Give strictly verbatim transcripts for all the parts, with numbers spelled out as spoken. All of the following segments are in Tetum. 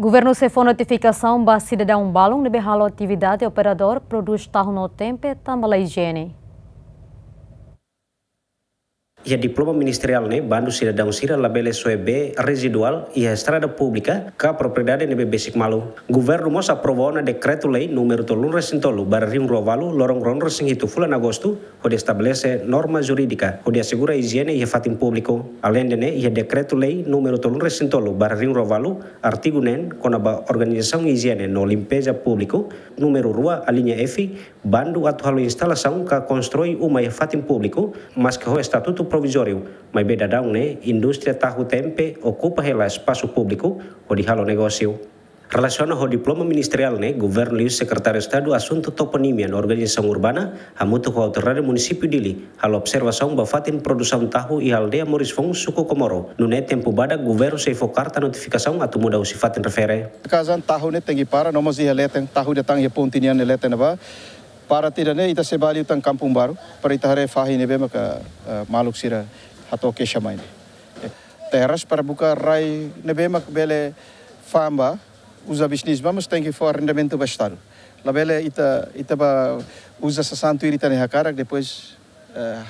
Governu sei fó notifikasaun ba sidadaun balun ne'ebé halo atividade operadór prodús tahu no tempe tanba la ijiene. Iha diploma ministeriál ne'e, bandu sidadaun sira labele soe bee reziduál iha estrada públika ka propriedade ne'ebé besik malu. Governu mós aprova ona dekretu-lei númeru tolunulu-resin-tolu barra rihun-rua-ualu, loron ruanulu-resin-hitu fulan Agostu, hodi estabelese norma jurídika hodi asegura ijiene iha fatin públiku. Aleinde ne'e, iha dekretu-lei númeru tolunulu-resin-tolu barra rihun-rua-ualu, artigu neen, kona-ba organizasaun ijiene no limpeza públiku, númeru rua, alínea F, bandu atu halo instalasaun ka konstrui uma iha fatin públiku, maske ho estatutu provizóriu, maibé daudaun ne'e indústria tahu tempe okupa hela espasu públiku hodi halo negósiu. Relasiona ho diploma ministeriál ne'e, governu liuhusi Sekretáriu Estadu Asuntu Toponímia no Organizasaun Urbana, hamutuk ho Autoridade Munisípiu Dili, halo observasaun ba fatin produsaun tahu iha aldeia Morisfoun, suku Comoro. Nune'e tempu badak governu sei fó karta notifikasaun atu muda husi fatin refere. Kazan tahu ne'e tenke para, no mós iha leten, tahu ida tan iha ponte nian ne'e leten ne'ebá. Para tiha ne'e ita sei bá liután Kampung Baru, para ita haree fahi ne'ebé maka, eh, maluk sira hato'o keixa mai ne'e. Terras para buka rai ne'ebé mak bele fa'an ba, uza bisnis ba, mas tenke fó arrendamentu ba Estadu. Labele ita, ita bá uza sasán tuir ita-nia hakarak, depois, eh,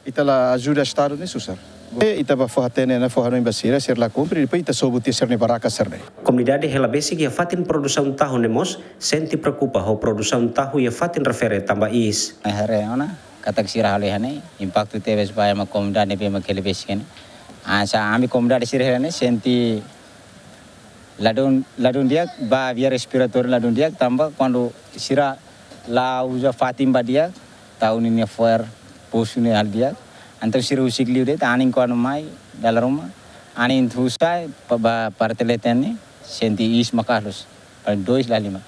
ita la ajuda Estadu ne'e susar. Ita bá fó hatene ona, fó hanoin ba sira, sira la kumpre, depois ita sobu tiha sira-nia barraka sira-ne'e. Komunidade hela besik iha fatin produsaun tahu ne'e mós sente preokupa ho produsaun tahu iha fatin refere tanba iis. Haree ona katak sira halo iha ne'e, impaktu tebes ba ema komunidade ne'ebé mak hela besik ne'e. Hanesan ami komunidade sira hela ne'e sente ladún, ladún di'ak, ba via respiratória ladún di'ak, tanba kuandu sira la uza fatin ba di'ak, tahu ninia fo'er, posu ne'e halo di'ak. Entaun sira husik liu de'it, anin kuandu mai dala ruma, anin husik ba parte leten ne'e, sente iis maka'as loos, paling dois la lima.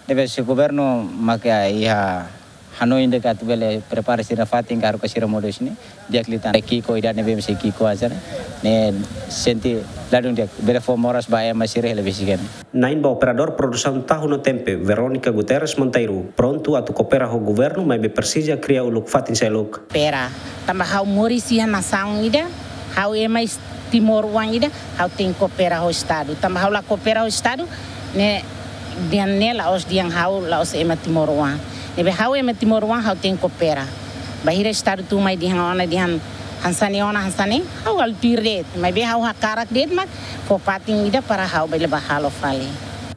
Ne'ebé se governu maka iha hanoin de'it atu bele prepara sira fatin ka haruka sira modo sini, di'ak liután. Ki'ik ida ne'ebé sei ki'ik aja ne'e, ne'e sente ladún di'ak, bele fó moras ba ema sira hela besik ne'e. Na'in ba operadór produsaun tahu no tempe, Verónica Guterres Monteiro, prontu atu koopera ho governu, maibé presiza kria uluk fatin seluk. Koopera. Tanba ha'u moris iha nasaun ida, ha'u ema is-, timoroan ida, ha'u tenke koopera ho Estadu. Tanba ha'u la koopera ho Estadu, ne'e dehan ne'e la'ós dehan ha'u la'ós ema timoroan. Ne'ebé ha'u ema timoroan, ha'u tenke koopera. Bainhira Estadu tun mai dehan ona dehan hanesan ne'e ona hanesan ne'e, ha'u halo tuir de'it. Maibé ha'u hakarak de'it mak fó fatin ida para ha'u bele bá halo fali.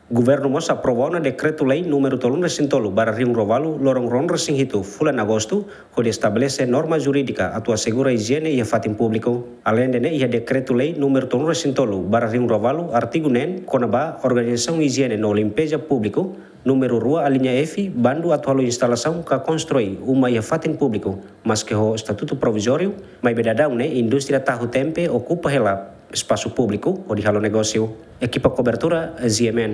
Governu mós aprova ona dekretu-lei númeru tolunulu-resin-tolu barra rihun-rua-ualu, loron ruanulu-resin-hitu fulan Agostu, hodi estabelese norma jurídika atu asegura ijiene iha fatin públiku. Aleinde ne'e, iha dekretu-lei númeru tolunulu-resin-tolu barra rihun-rua-ualu, artigu neen, kona-ba organizasaun ijiene no limpeza públiku, númeru rua, alínea F, bandu atu halo instalasaun ka konstrui uma iha fatin públiku, maske ho estatutu provizóriu, maibé daudaun ne'e indústria tahu tempe okupa hela espasu públiku hodi halo negósiu. Ekipa kobertura, Z M N.